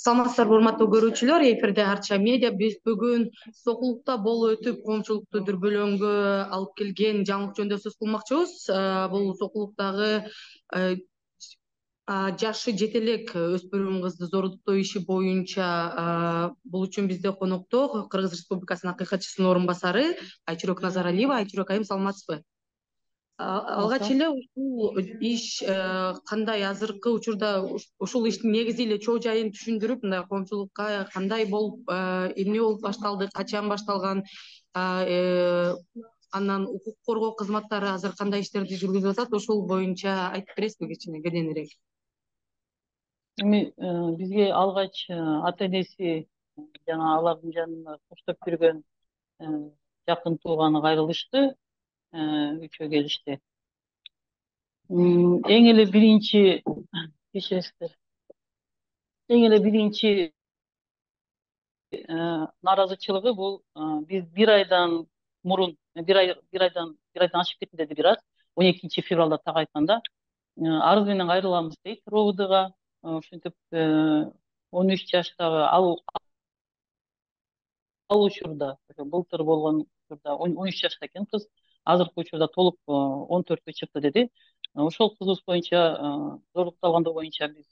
Саламатсыздарбы, урматтуу көрүүчүлөр, эфирде Арча медиа. Биз бүгүн Сокулукта болуп өтүп, коомчулукту дүрбөлөңгө алып келген жаңылык жөнүндө сөз кылмакчыбыз. Бул Сокулуктагы жашы жете элек өспүрүм кызды зордуктоо иши боюнча бул үчүн бизде конокто Кыргыз Республикасынын акыйкатчысынын орун басары Айчүрөк Назаралиева. Айчүрөк айым, саламатсызбы? Алгач эле ушул иш кандай, азыркы учурда ушул иштин негизи эле чоо жайын түшүндүрүп, мындай коомчулукка кандай болуп, эмне болуп башталды, качан башталган, анан укук коргоо кызматтары азыр кандай иштерди жүргүзүп атат, ошол боюнча айтып бересизби кичине кененирээк? Эми бизге алгач ата энеси жана алардын жанында коштоп жүргөн жакын тууганы кайрылышты, үчөө келишти. Эң эле биринчи кечиресиздер. Эң эле биринчи нааразычылыгы бул биз бир айдан мурун, бир айдан ашып кетти деди бир аз. 12 февралда так айтканда арыз менен кайрыламыз дейт РОВДга. Ошентип 13 жаштагы ал учурда, былтыр болгон учурда 13 жашта экен кыз, азыркы учурда толук 14кө чыкты деди. Ошол кызыбыз боюнча зордукталгандыгы боюнча биз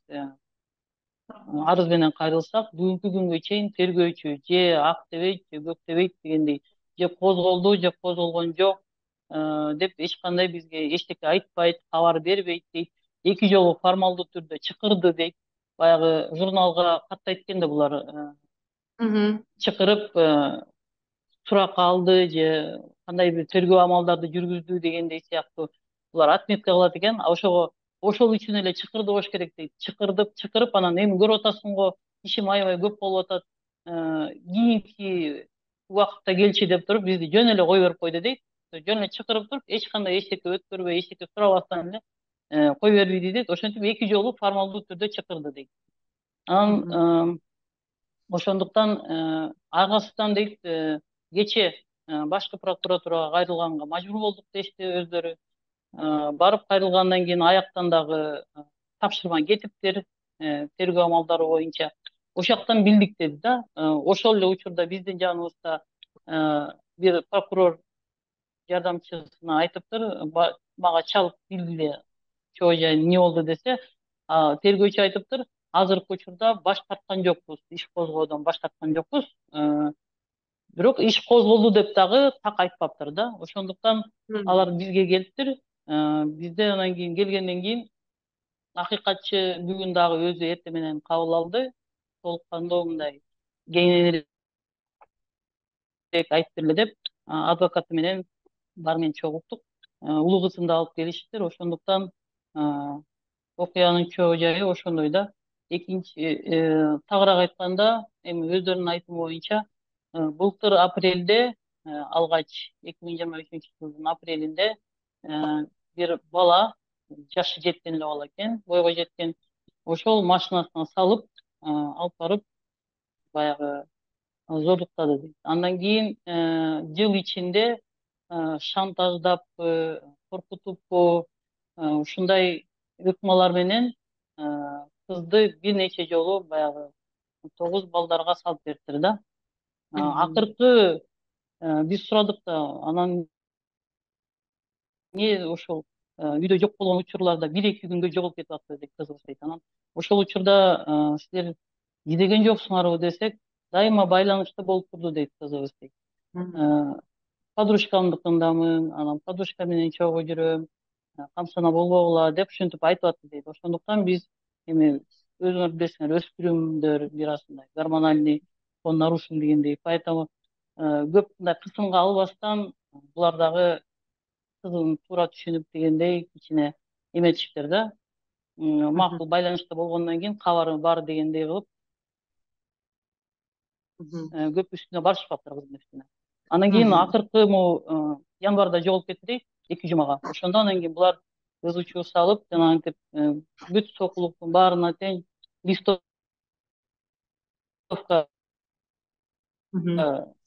арыз менен кайрылсак, бүгүнкү күнгө чейин тергөөчү же ак дебейт, же көк дебейт дегендей, же козголду, же козголгон жок деп эч кандай бизге эчтеке айтпайт, кабар бербейт дейт. 2 жолу формалдуу түрдө чакырды дейт. Баягы журналга каттайт экен да булар чакырып сурак алды же кандай бир тергөө амалдарды жүргүздү дегендей сыяктуу булар отметка кылат экен. Ошол үчүн эле чакырды болуш керек дейт. Чакырып анан эми көрүп атасың го, ишим аябай көп болуп атат. Кийинки убакытта келчи деп туруп бизди жөн эле кой берип койду дейт. Жөн эле чакырып туруп, эч кандай эчтеке өткөрбөй, эчтеке сурабастан эле кой бербейди дейт. Ошентип 2 жолу формалдуу түрдө чакырды дейт. Анан ошондуктан аргасынан дейт кече башкы прокуратурага кайрылганга мажбур болдук дешти өздөрү. Барып кайрылгандан кийин аяктан дагы тапшырма кетиптир тергөө амалдары боюнча. Ошоктан билдик деди да. Ошол эле учурда биздин жаныбызда бир прокурор жардамчысына айтыптыр, мага чалып билгиле чоо жайын эмне болду десе, тергөөчү айтыптыр, азыркы учурда баш тарткан жокпуз, иш козгоодон баш тарткан жокпуз. Бирок иш козголду деп дагы так айтпаптыр да. Ошондуктан алар бизге келиптир. Бизде анан кийин келгенден кийин акыйкатчы бүгүн дагы өзү эртең менен кабыл алды. Толук кандуу мындай кеңирээк айтып бергиле деп адвокаты менен баары менен чогулттук. Улуу кызын да алып келишиптир. Ошондуктан окуянын чоо жайы ошондой да. Экинчи тагыраак айтканда, эми өздөрүнүн айтымы боюнча былтыр апрелде, алгач 2023-жылдын апрелинде бир бала, жашы жеткен эле бала экен, бойго жеткен, ошол машинасына салып алып барып баягы зордуктады дейт. Андан кийин жыл ичинде шантаждаппы, коркутуппу, ушундай ыкмалар менен кызды бир нече жолу баягы 9 балдарга салып бериптир да. Акыркы биз сурадык да, анан эмне ошол үйдө жок болгон учурларда 1-2 күнгө жоголуп кетип атты дейт кызыбыз дейт. Анан ошол учурда силер издеген жоксуңарбы десек, дайыма байланышта болуп турду дейт кызыбыз дейт. Подружкамдыкындамын, анан подружка менен чогуу жүрөм, камсына болбогула деп ушинтип айтып атты дейт. Ошондуктан биз эми өзүңөр билесиңер, өспүрүмдөр бир аз мындай гормональный фон нарушен дегендей, поэтому көп мындай кысымга албастан булар дагы кызын туура түшүнүп дегендей кичине эметишиптир да. Макул байланышта болгондон кийин кабары бар дегендей кылып көп үстүнө барышпаптыр кыздын үстүнө. Андан кийин акыркы январда жоголуп кетти дейт, 2 жумага. Ошондо анан кийин булар ызы-чуу салып, жанагынтип бүт Сокулуктун баарына тең листовка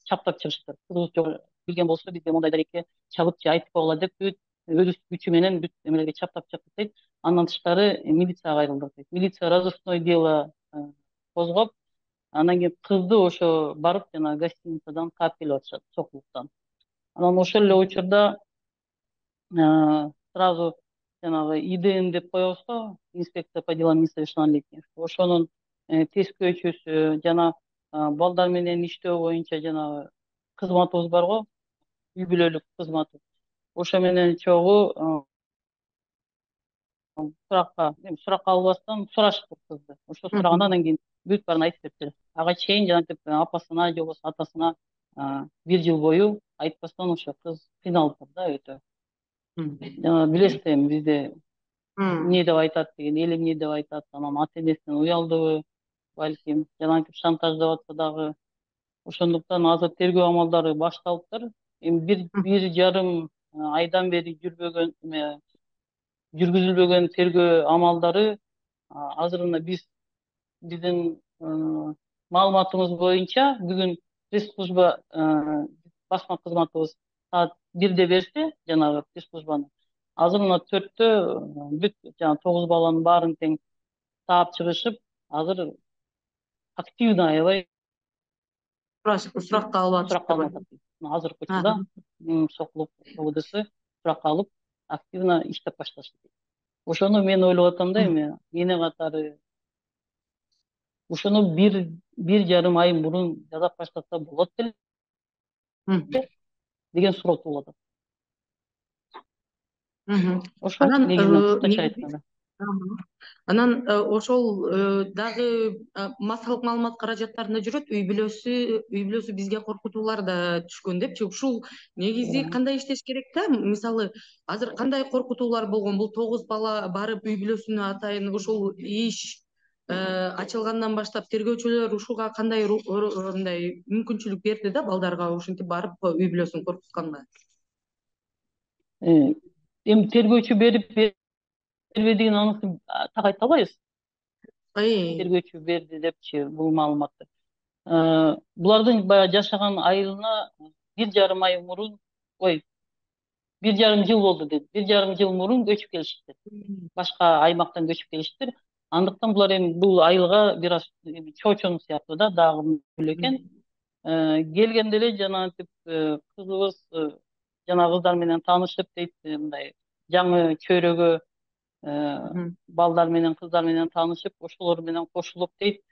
чаптап чыгыштыр. Кызыбыз билген болсо бизге мондай дарекке чабып же айтып койгула деп бүт өз күчү менен бүт эмелерге чаптап чыктык дейт. Андан тышкары милицияга кайрылдык дейт. Милиция розыскной дело козгоп, анан кийин кызды ошо барып жанагы гостиницадан таап келип атышат Сокулуктан. Анан ошол эле учурда сразу жанагы ИДН деп коебуз го, инспекция по делам несовершеннолетних. Ошонун тескөөчүсү жана балдар менен иштөө боюнча жанагы кызматыбыз бар го, үй бүлөлүк кызматы. Ошо менен чогуу суракка албастан сурашыптыр кызды. Ошо сураганда анан кийин бүт баарын айтып бериптир. Ага чейин жанагынтип апасына же болбосо атасына 1 жыл бою айтпастан ошо кыз кыйналыптыр да өтө. Жана билесиз да эми бизде эмне деп айтат деген, эл эмне деп айтат, анан ата энесинен уялдыбы, балким, жанагынтип шантаждап атса дагы. Ошондуктан азыр тергөө амалдары башталыптыр. Эми 1,5 айдан бери жүргүзүлбөгөн тергөө амалдары азырына биздин маалыматыбыз боюнча бүгүн пресс-служба басма кызматыбыз саат 1-де берсе жанагы пресс-службаны, азыр мына 4-тө бүт жанагы 9 баланын баарын тең таап чыгышып, азыр активно аябай суракка алып суракка атышптырбы? алынып атат. Азыркы учурда Сокулук ОВДсы суракка алып, активно иштеп башташты. Ошону мен ойлоп атам да эми эне катары ошону 1,5 ай мурун жасап баштаса болот беле деген суроо туулуп атат. Ошол Анан негизинен кыскача негизи айтканда. анан ошол дагы массалык маалымат каражаттарында жүрөт, үй бүлөсү бизге коркутуулар да түшкөн депчи. Ушул негизи кандай иштеш керек да? Мисалы, азыр кандай коркутуулар болгон? Бул 9 бала барып үй бүлөсүнө атайын ушул иш ачылгандан баштап тергөөчүлөр ушуга кандай мындай мүмкүнчүлүк берди да балдарга ушинтип барып үй бүлөсүн коркутканга? Эми тергөөчү бербедигин анысын так айта албайбыз. Тергөөчү берди депчи бул маалыматты. Булардын баягы жашаган айылына 1,5 ай мурун, 1,5 жыл болду деди. 1,5 жыл мурун көчүп келишиптир. Башка аймактан көчүп келишиптир. Андыктан булар эми бул айылга бир аз чоочон сыяктуу да дагы экен. Келгенде эле жанагынтип кызыбыз жана кыздар менен таанышып дейт, мындай жаңы чөйрөгө балдар менен кыздар менен таанышып, ошолор менен кошулуп дейт.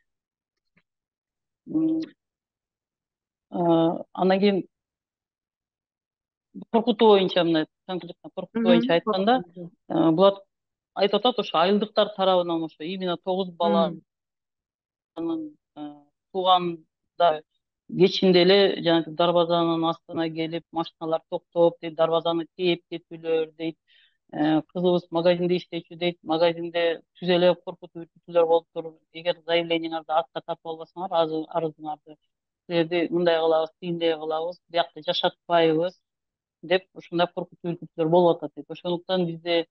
Андан кийин коркутуу боюнча мына конкретно коркутуу боюнча айтканда, булар айтып атат ошо айылдыктар тарабынан ошо именно 9 баланын тууганда кечинде эле жанагы дарбазанын астына келип машиналар токтоп дейт, дарбазаны тээп кетүүлөр дейт. Кызыбыз магазинде иштечү дейт, магазинде түз эле коркутуу үркүтүүлөр болуптур. Эгер заявлениеңарды атка тартып албасаңар, арызыңарды силерди мындай кылабыз, тигиндей кылабыз, биякта жашатпайбыз деп ушундай коркутуу үркүтүүлөр болуп атат дейт. Ошондуктан бизде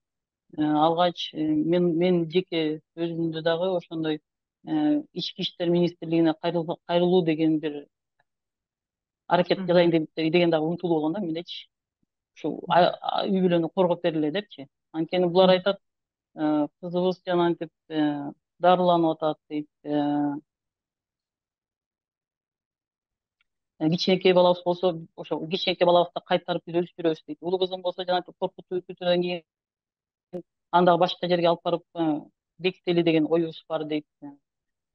алгач мен жеке өзүмдү дагы ошондой ички иштер министрлигине кайрылуу деген бир аракет жасайын деген дагы умтулуу болгон да мендечи. Ушу үй бүлөнү коргоп бергиле депчи. Анткени булар айтат, кызыбыз жанагынтип дарыланып атат дейт. Кичинекей балабыз болсо, ошо кичинекей балабызды кайтарып биз өстүрөбүз дейт. Улуу кызым болсо жанагынтип коркутуу үркүтүүдөн кийин аны дагы башка жерге алып барып бекители деген оюбуз бар дейт.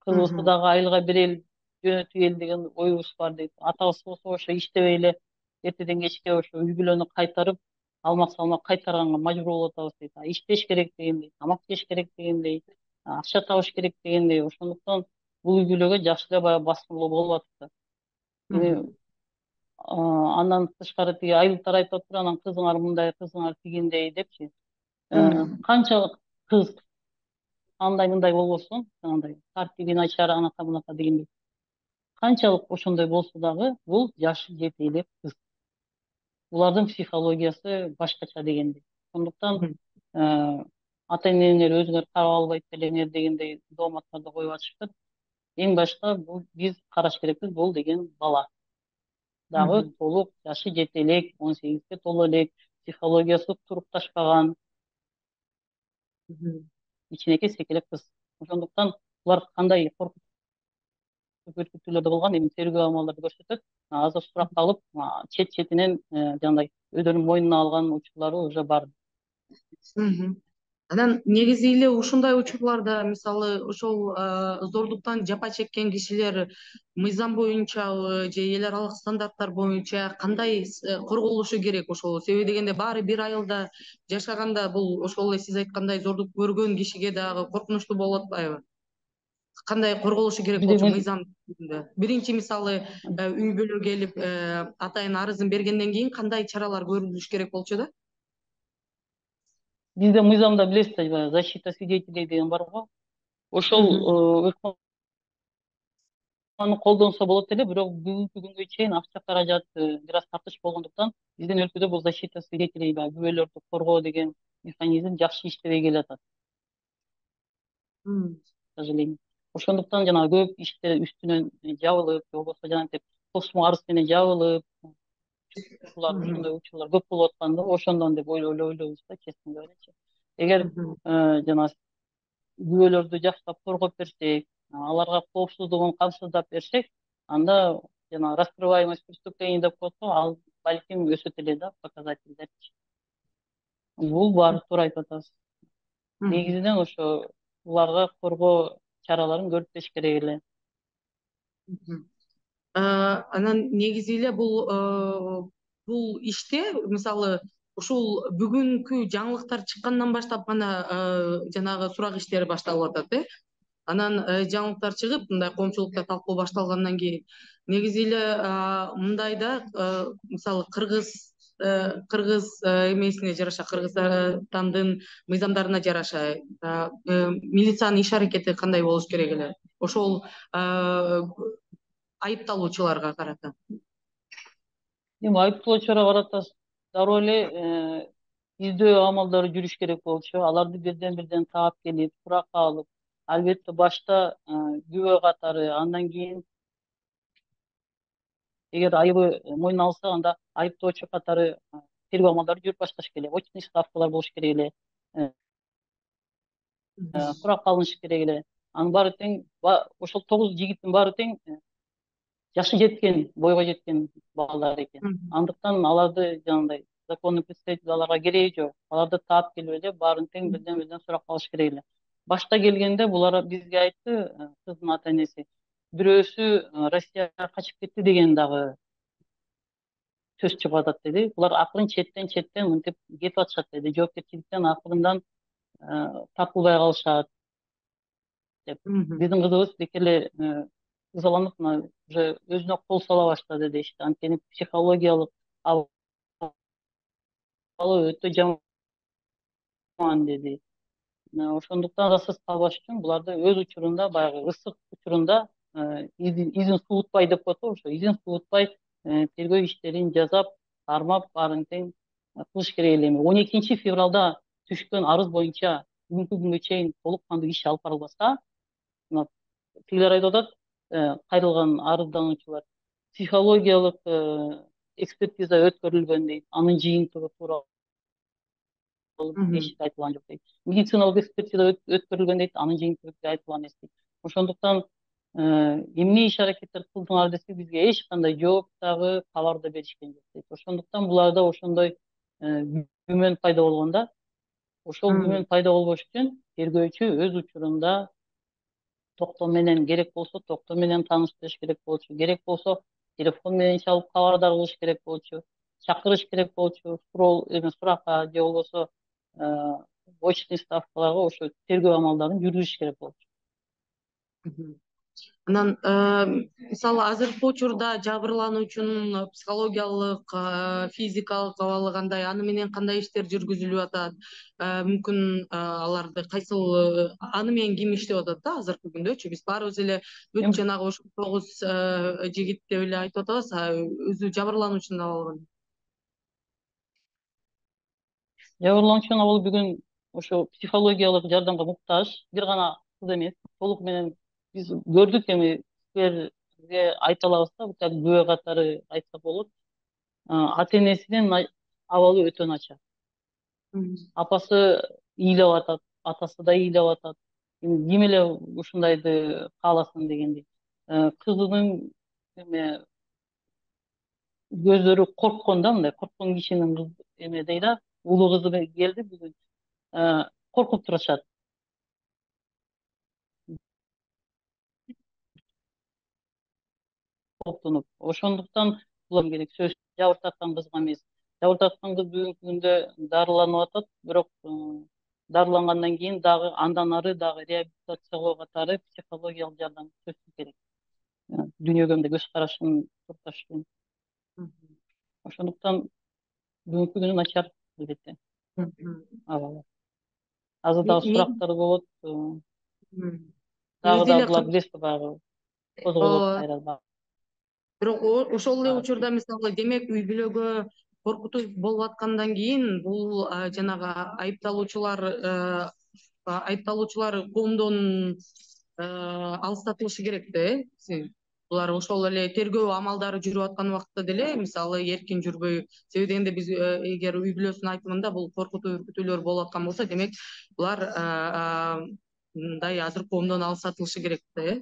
Кызыбызды дагы айылга берели, жөнөтүели деген оюбуз бар дейт. Атабыз болсо ошо иштебей эле эртеден кечке ошо үй бүлөнү кайтарып, алмак салмак кайтарганга мажбур болуп атабыз дейт. Иштеш керек дегендей, тамак жеш керек дегендей, акча табыш керек дегендей. Ошондуктан бул үй бүлөгө жакшы эле баягы баскынлоо болуп атат. Эми андан тышкары тиги айылдыктар айтып атыптыр, анан кызыңар мындай, кызыңар тигиндей депчи. Канчалык кыз андай мындай болбосун, андай тартиби начар анака бунака дегендей. Канчалык ошондой болсо дагы бул жашы жете элек кыз. Булардын психологиясы башкача дегендей. Ошондуктан ата энелер өзүңөр карап албайт белеңер дегендей дооматтарды коюп атышыптыр. Эң башта бул биз караш керекпиз, бул деген бала. Дагы толук жашы жете элек, 18-ге толо элек, психологиясы турукташпаган кичинекей секелек кыз. Ошондуктан булар кандай көп өркүттүүлөр да болгон. Эми тергөө амалдары көрсөтөт. Азыр суракка алып, четинен жандай өздөрүнүн мойнуна алган учурлары уже бар. Мгм. Анан негизи эле ушундай учурларда мисалы ошол зордуктан жапа чеккен кишилер мыйзам боюнчабы же эл аралык стандарттар боюнча кандай корголушу керек ошол? Себеби дегенде баары бир айылда жашаганда бул ошол эле сиз айткандай зордук көргөн кишиге дагы коркунучтуу болуп атпайбы? Кандай корголушу керек болчу Бизде мыйзам түрүндө? Биринчи мисалы үй бүлө келип атайын арызын бергенден кийин кандай чаралар көрүлүш керек болчу да? бизде мыйзамда билесиз да, защита свидетелей деген бар го. Ошол колдонсо болот эле, бирок бүгүнкү күнгө чейин акча каражат бир аз тартыш болгондуктан биздин өлкөдө бул защита свидетелей, күбөлөрдү коргоо деген механизм жакшы иштебей келатат, к сожалению. Ошондуктан жанагы көп иштер үстүнөн жабылып, же болбосо жанагынтип тосмо арыз менен жабылып, ошондой учурлар көп болуп атканда ошондон деп ойлойбуз да, честно говоря. Эгер жанагы күбөлөрдү жакшылап коргоп берсек, аларга коопсуздугун камсыздап берсек, анда жана раскрываемость преступлений деп коет го, ал балким өсөт эле да, показательдерчи. Бул бар, туура айтып атасыз. Негизинен ошо буларга коргоо чараларын көрүптөш керек эле. Анан негизи эле бул иште мисалы ушул бүгүнкү жаңылыктар чыккандан баштап гана жанагы сурак иштери башталып атат. Анан жаңылыктар чыгып, мындай коомчулукта талкуу башталгандан кийин негизи эле мындай да мисалы кыргыз эмесине жараша, Кыргызстандын мыйзамдарына жараша милициянын иш аракети кандай болуш керек эле? Ошол айыпталуучуларга карата. Эми айыптоочуларга карата дароо эле издөө амалдары жүрүш керек болчу. Аларды бирден таап келип, суракка алып, албетте башта күбө катары, андан кийин эгер айыбы мойнуна алса, анда айыптоочу катары тергөө амалдары жүрүп башташ керек. Очный ставкалар болуш керек эле. Суракка алыныш керек эле. Анын баары тең, ошол 9 жигиттин баары тең жашы жеткен, бойго жеткен балдар экен. Андыктан аларды жанагындай законный представитель аларга кереги жок. Аларды таап келип эле баарын тең бирден суракка алыш керек эле. Башта келгенде булар бизге айтты, кыздын ата энеси, бирөөсү Россияга качып кетти деген дагы сөз чыгып атат деди. Булар акырын четтен мынтип кетип атышат деди. Жоопкерчиликтен акырындан тартылбай калышат деп. Биздин кызыбыз бек эле ызаланып, уже өзүнө кол сала баштады дешти. Анткени психологиялык абалы өтө жаман деди. Ошондуктан арасыз калбаш үчүн буларды өз учурунда, баягы ысык учурунда изин суутпай деп коет го, ошо изин суутпай тергөө иштерин жасап, кармап, баарын тең кылыш керек эле. 12 февралда түшкөн арыз боюнча бүгүнкү күнгө чейин толук кандуу иш алып барылбаса, тигилер айтып атат, кайрылган арыздануучулар психологиялык экспертиза өткөрүлгөн дейт. Анын жыйынтыгы тууралуу эч айтылган жок дейт. Медициналык экспертиза өткөрүлгөн дейт. Анын жыйынтыгы айтылган эмес дейт. Ошондуктан эмне иш аракеттер кылдыңар десек, бизге эч кандай жооп дагы, кабар да беришкен жок дейт. Ошондуктан буларда ошондой күмөн пайда болгондо, ошол күмөн пайда болбош үчүн тергөөчү өз учурунда токтоо менен, керек болсо токтоо менен тааныштырыш керек болчу, керек болсо телефон менен чалып кабардар кылыш керек болчу, чакырыш керек болчу, суракка же болбосо очный ставкаларга ошо тергөө амалдарын жүргүзүш керек болчу. Анан мисалы азыркы учурда жабырлануучунун психологиялык, физикалык абалы кандай, аны менен кандай иштер жүргүзүлүп атат? Мүмкүн аларды кайсыл аны менен ким иштеп атат да азыркы күндөчү? Биз баарыбыз эле бүт жанагы ошол 9 жигит деп эле айтып атабыз, өзү жабырлануучунун абалы кандай? Жабырлануучунун абалы бүгүн ошо психологиялык жардамга муктаж, бир гана кыз эмес, толук менен биз көрдүк. Эми силерге айта алабыз да, бутак күбө катары айтсак болот. Ата энесинин абалы өтө начар. Апасы ыйлап атат, атасы да ыйлап атат. Ким эле ушундайды кааласын дегендей. кызынын эме көздөрү корккон да, мындай корккон кишинин эме дейт да, улуу кызы келди бүгүн, коркуп турушат. Кооптонуп. Ошондуктан булар керек сөз жабыртаткан кызга эмес. Жабыртаткан кыз бүгүнкү күндө дарыланып атат, бирок дарылангандан кийин дагы андан ары дагы реабилитациялоо катары психологиялык жардам сөзсүз керек. Дүйнөгө мындай көз карашын турташ үчүн. Ошондуктан бүгүнкү күнү начар албетте. Абалы. Азыр дагы сурактар болот. Дагы булар билесиз баягы козголот кайра. Бирок ошол эле учурда мисалы демек үй бүлөгө коркутуу болуп аткандан кийин бул жанагы айыпталуучулар коомдон алыстатылышы керек да, булар ошол эле тергөө амалдары жүрүп аткан убакта деле мисалы эркин жүрбөй, себеби дегенде биз эгер үй бүлөсүнүн айтымында бул коркутуу үркүтүүлөр болуп аткан болсо, демек булар мындай азыр коомдон алыстатылышы керек да,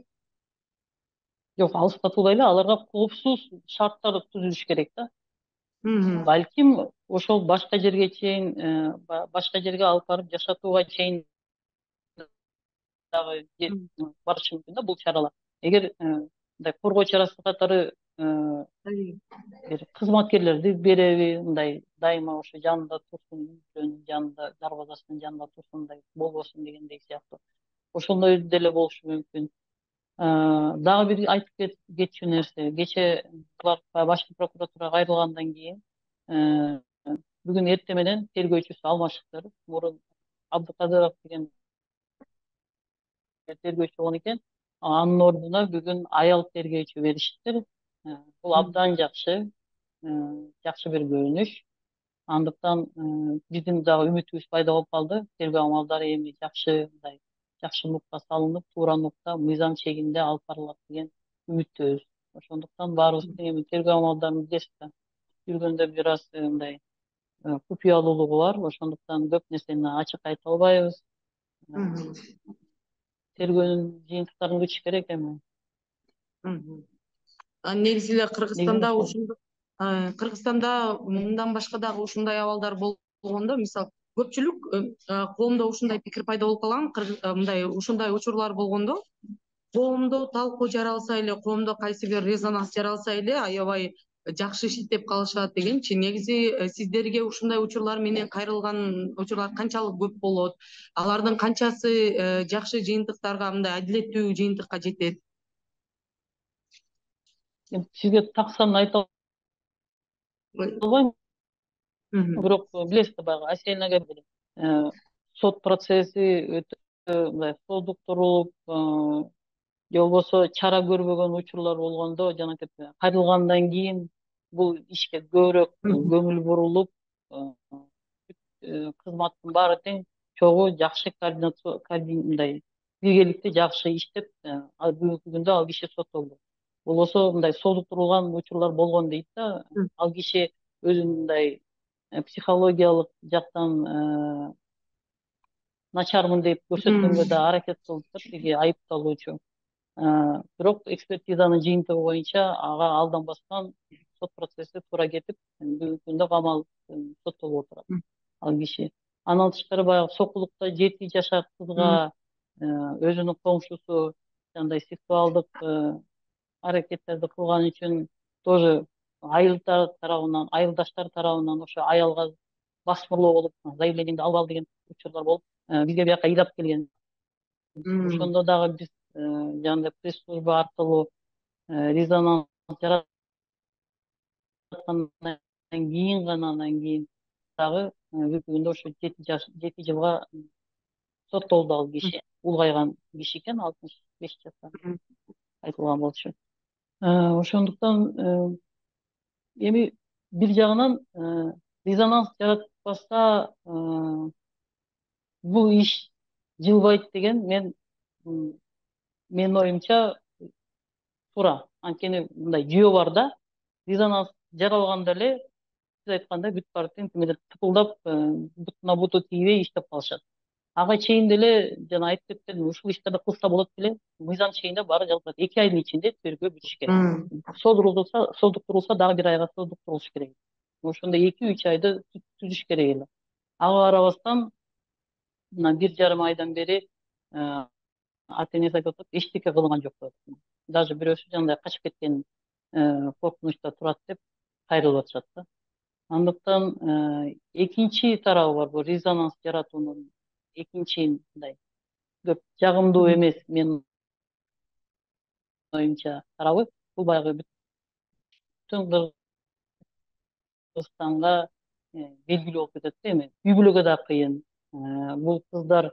Жок, алыстатуулай эле, аларга коопсуз шарттар түзүлүш керек да. Балким ошол башка жерге чейин, башка жерге алып барып жашатууга чейин дагы барышы мүмкүн да бул чаралар. Эгер мындай коргоо чарасы катары бир кызматкерлерди береби, мындай дайыма ошо жанында турсун, үйүнүн жанында, дарбазасынын жанында турсун, мындай болбосун дегендей сыяктуу. Ошондой деле болушу мүмкүн. Дагы бир айтып кетчү нерсе, кече булар башкы прокуратурага кайрылгандан кийин бүгүн эртең менен тергөөчүсү алмашыптыр. Мурун Абдыкадыров деген тергөөчү болгон экен. Анын ордуна бүгүн аял тергөөчү беришиптир. Бул абдан жакшы бир көрүнүш. Андыктан биздин дагы үмүтүбүз пайда болуп калды. Тергөө амалдары эми жакшы нукта салынып, туура нукта, мыйзам чегинде алып барылат деген үмүттөбүз. Ошондуктан баарыбыздын эми тергөө амалдарын билесиз да, жүргөндө бир аз мындай купуялуулугу бар. Ошондуктан көп нерсени ачык айта албайбыз. Тергөөнүн жыйынтыктарын күтүш керек эми. Негизи эле Кыргызстанда мындан башка дагы ушундай абалдар болгондо, мисалы көпчүлүк коомдо ушундай пикир пайда болуп калган, мындай ушундай учурлар болгондо коомдо талкуу жаралса эле, коомдо кайсы бир резонанс жаралса эле аябай жакшы шиттеп калышат дегенчи. Негизи сиздерге ушундай учурлар менен кайрылган учурлар канчалык көп болот? Алардын канчасы жакшы жыйынтыктарга, мындай адилеттүү жыйынтыкка жетет? Сизге так санын айта албайм. Бирок билесиз да, баягы Аселинага сот процесси өтө мындай созуктурулуп, же болбосо чара көрбөгөн учурлар болгондо, жанагы кайрылгандан кийин бул ишке көбүрөөк көңүл бурулуп, кызматтын баары тең чогуу жакшы мындай биргеликте жакшы иштеп, бүгүнкү күндө ал киши соттолду. Болбосо мындай созуктурулган учурлар болгон дейт да, ал киши өзүн мындай психологиялык жактан начармын деп көрсөткөнгө да аракет кылыптыр тиги айыпталуучу. Бирок экспертизанын жыйынтыгы боюнча ага алданбастан сот процесси туура кетип, бүгүнкү күндө камал соттолуп отурат ал киши. Андан тышкары баягы Сокулукта 7 жашар кызга өзүнүн коңшусу жандай сексуалдык аракеттерди кылган үчүн тоже айылдаштар тарабынан ошо аялга басмырлоо болуп, заявлениеңди алып ал деген учурлар болуп, бизге бияка ыйлап келген. Ошондо дагы биз жана пресс-служба аркылуу резонанс жараткандан кийин анан кийин дагы бүгүнкү күндө ошо 7 жылга соттолду ал киши. Улгайган киши экен, 65 жашта айтылган болчу. Ошондуктан эми бир жагынан резонанс жаратпаса бул иш жылбайт деген менин оюмча туура. Анткени мындай жүйө бар да, резонанс жаралганда эле сиз айткандай бүт баары тең типылдап, бутуна буту тийбей иштеп калышат. ага чейин деле жана айтып кеткен ушул иштерди кылса болот беле, мыйзам чегинде баары жалпы 2 айдын ичинде тергөө бүтүш керек. Созуктурулса дагы 1 айга созуктурулуш керек. Ошондо 2-3 айды түзүш керек эле. Ага карабастан мына 1,5 айдан бери ата энеси айтып атат, эчтеке кылынган жок деп атат. Даже бирөөсү жандай качып кеткен коркунучта турат деп кайрылып атышат да. Андыктан экинчи тарабы бар, бул резонанс жаратуунун экинчи мындай көп жагымдуу эмес менин оюмча тарабы, бул баягы бүтүн Кыргызстанга белгилүү болуп кетет да эми. Үй бүлөгө да кыйын. Бул кыздар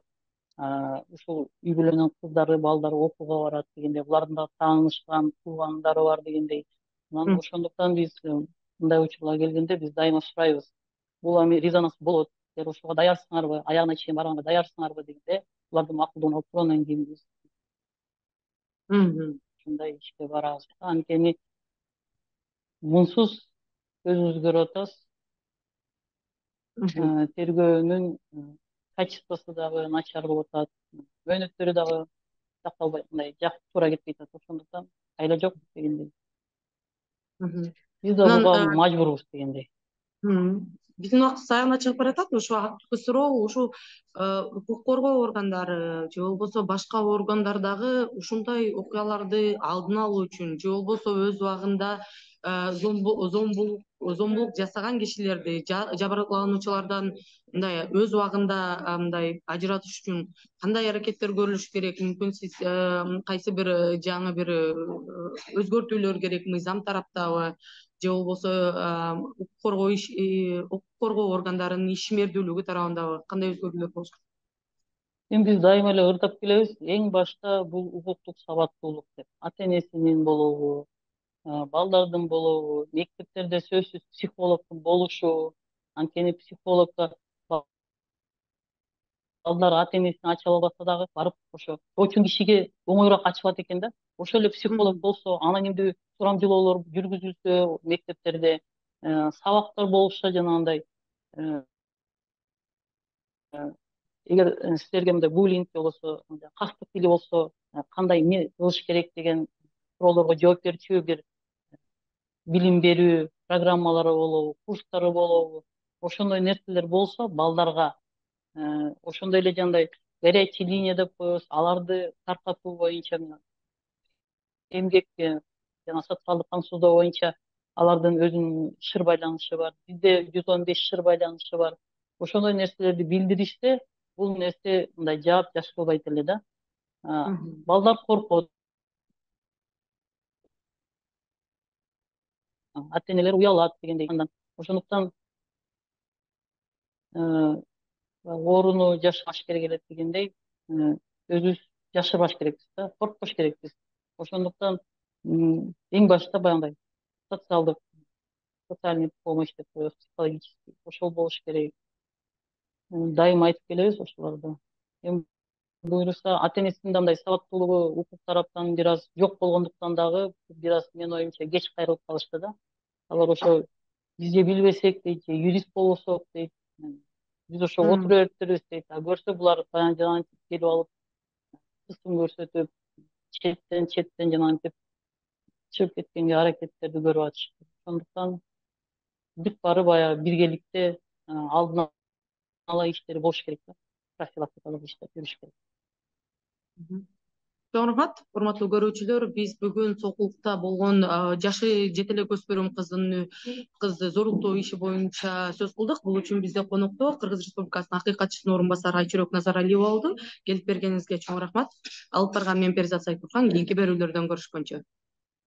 ушул үй бүлөнүн кыздары, балдары окууга барат дегендей, булардын да таанышкан, туугандары бар дегендей. Анан ошондуктан биз мындай учурлар келгенде биз дайыма сурайбыз. Бул эми резонанс болот. Силер ошого даярсыңарбы, аягына чейин барганга даярсыңарбы дегенде, булардын макулдугун алып туруп анан кийин биз ушундай ишке барабыз. Анткени мунсуз өзүбүз көрүп атабыз. Тергөөнүн качествосу дагы начар болуп атат. Мөөнөттөрү дагы сакталбай, мындай туура кетпей атат. Ошондуктан айла жок дегендей. Биз да буга мажбурбуз дегендей. Биздин убактыбыз аягына чыгып баратат. Ушу активдүү суроо ушу укук коргоо органдары же болбосо башка органдар дагы ушундай окуяларды алдын алуу үчүн же болбосо өз убагында зомбулук жасаган кишилерди, жабырлануучулардан мындай өз убагында мындай ажыратыш үчүн кандай аракеттер көрүлүш керек? Мүмкүн сиз кайсы бир жаңы бир өзгөртүүлөр керек мыйзам тараптабы же болбосо укук коргоо органдарынын ишмердүүлүгү тарабындагы кандай өзгөрүүлөр болуш керек? Эми биз дайыма эле ырдап келебиз. Эң башта бул укуктук сабаттуулук деп. Ата энесинин болобу, балдардын болобу, мектептерде сөзсүз психологдун болушу. Анткени психологдор балдар ата энесине ача албаса дагы барып ошо очун кишиге оңоюраак ачылат экен да. Ошол эле психолог болсо, анонимдүү сурамжылоолор жүргүзүлсө мектептерде, сабактар болушса жанагындай эгер силерге мындай буллинг же болбосо кастык тили болсо, кандай эмне кылыш керек деген суроолорго жооп берчү бир билим берүү программалары болобу, курстары болобу, ошондой нерселер болсо балдарга ошондой эле жандай горячий линия деп коебуз, аларды таркатуу боюнча эмгек жана социалдык камсыздоо боюнча алардын өзүнүн шыр байланышы бар. Бизде 115 шыр байланышы бар. Ошондой нерселерди билдиришсе, бул нерсе мындай жаап жашырылбайт эле да. Балдар коркот. Ата энелер уялат дегендей. Ошондуктан ооруну жашырбаш керек эле дегендей, өзүбүз жашырбаш керекпиз да, коркпош керекпиз. Ошондуктан эң башта баягындай социальный помощь деп коебуз, психологический, ошол болуш керек. Дайыма айтып келебиз ошолорду. Эми буюрса ата энесинин да мындай сабаттуулугу укук тараптан бир аз жок болгондуктан дагы бир аз менин оюмча кеч кайрылып калышты да. Алар ошо бизде билбесек дейт, же юрист болбосок дейт. Биз ошо отура бериптирбиз дейт. Көрсө булар жанагынтип келип алып кысым көрсөтүп, четтен жанагынтип чыгып кеткенге аракеттерди көрүп атышат. Ошондуктан бүт баары баягы биргеликте алдын ала иштери болуш керек да. Профилактикалык иштер жүрүш керек. Чоң рахмат, урматтуу көрүүчүлөр. Биз бүгүн Сокулукта болгон жашы жете элек өспүрүм кызды зорлуктоо иши боюнча сөз кылдык. Бул үчүн бизде конокто Кыргыз Республикасынын акыйкатчысынын орун басары Айчүрөк Назаралиева болду. Келип бергениңизге чоң рахмат. Алып барган мен Перизат Сайкурхан. Кийинки берүүлөрдөн көрүшкөнчө.